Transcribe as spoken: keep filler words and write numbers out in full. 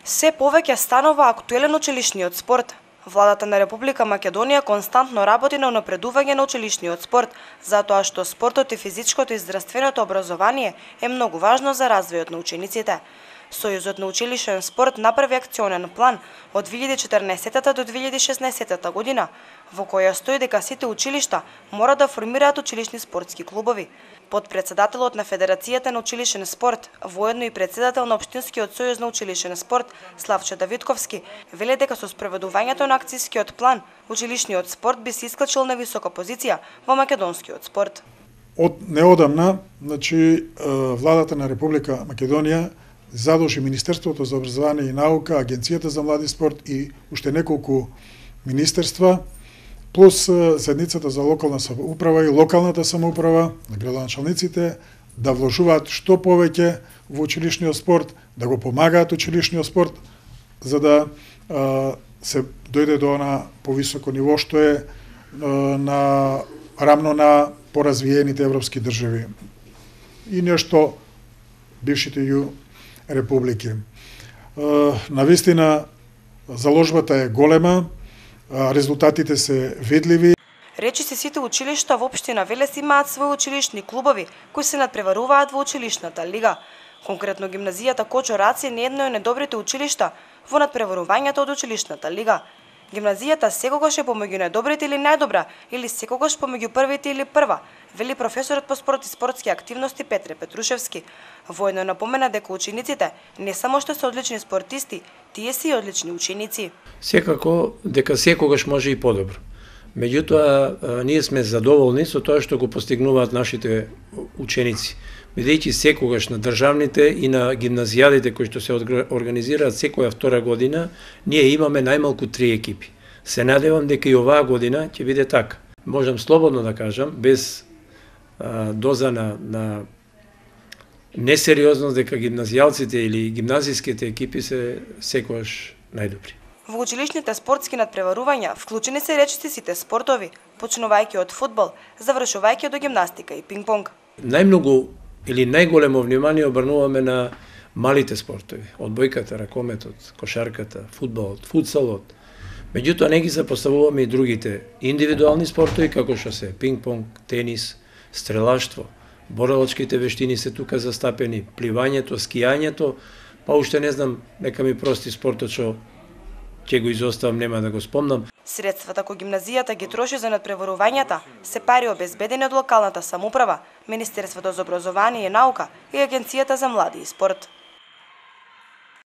Се повеќе станува актуелен училишниот спорт. Владата на Република Македонија константно работи на унапредување на училишниот спорт, затоа што спортот и физичкото и здравственото образование е многу важно за развојот на учениците. Сојузот на училишен спорт направи акционен план од две илјади и четрнаесетта до две илјади и шеснаесетта година, во која стои дека сите училишта мора да формираат училишни спортски клубови. Подпредседателот на Федерацијата на училишен спорт, воедно и председател на Општинскиот сојуз на училишен спорт, Славчо Давидковски, вели дека со спроведувањето на акцијскиот план, училишниот спорт би се исклучил на висока позиција во македонскиот спорт. Од неодамна, значи, владата на Република Македонија задолжи Министерството за образование и наука, Агенцијата за млади спорт и уште неколку министерства, плюс седницата за локална самоуправа и локалната самоуправа на градоначалниците да вложуваат што повеќе во училишниот спорт, да го помагаат училишниот спорт, за да а, се дојде до на повисоко ниво што е а, на рамно на поразвиените европски држави и нешто бившите ју републики. А, навистина заложбата е голема, резултатите се видливи. Речи се сите училишта во општина Велес имаат своји училишни клубови кои се надпреваруваат во училишната лига. Конкретно гимназијата Кочо Раци не едно од најдобрите училишта во надпреварувањето од училишната лига. Гимназијата секогаш е помеѓу најдобрите или најдобра, или секогаш помеѓу првите или прва, вели професорот по спорт и спортски активности Петре Петрушевски. Воедно напомена дека учениците не само што се одлични спортисти, тие се и одлични ученици. Секако дека секогаш може и подобро. Меѓутоа, ние сме задоволни со тоа што го постигнуваат нашите ученици. Бидејќи секогаш на државните и на гимназијадите кои што се организираат секоја втора година, ние имаме најмалку три екипи. Се надевам дека и оваа година ќе биде така. Можам слободно да кажам, без а, доза на, на несериозност, дека гимназијалците или гимназиските екипи се секогаш најдобри. Во училишните спортски надпреварувања вклучени се речиси сите спортови, почнувајќи од фудбал, завршувајќи до гимнастика и пинг-понг. Најмногу или најголемо внимание обрнуваме на малите спортови, одбојката, ракометот, кошарката, фудбалот, футсалот. Меѓутоа не ги запоставуваме и другите индивидуални спортови како што се пинг-понг, тенис, стрелаштво, борелачките вештини се тука застапени, пливањето, скијањето, па уште не знам, нека ми прости спортот што ќе го изоставам, нема да го спомнам. Средствата кои гимназијата ги троши за надпреварувањата се пари обезбедени од локалната самоуправа, Министерството за образование и наука и Агенцијата за млади и спорт.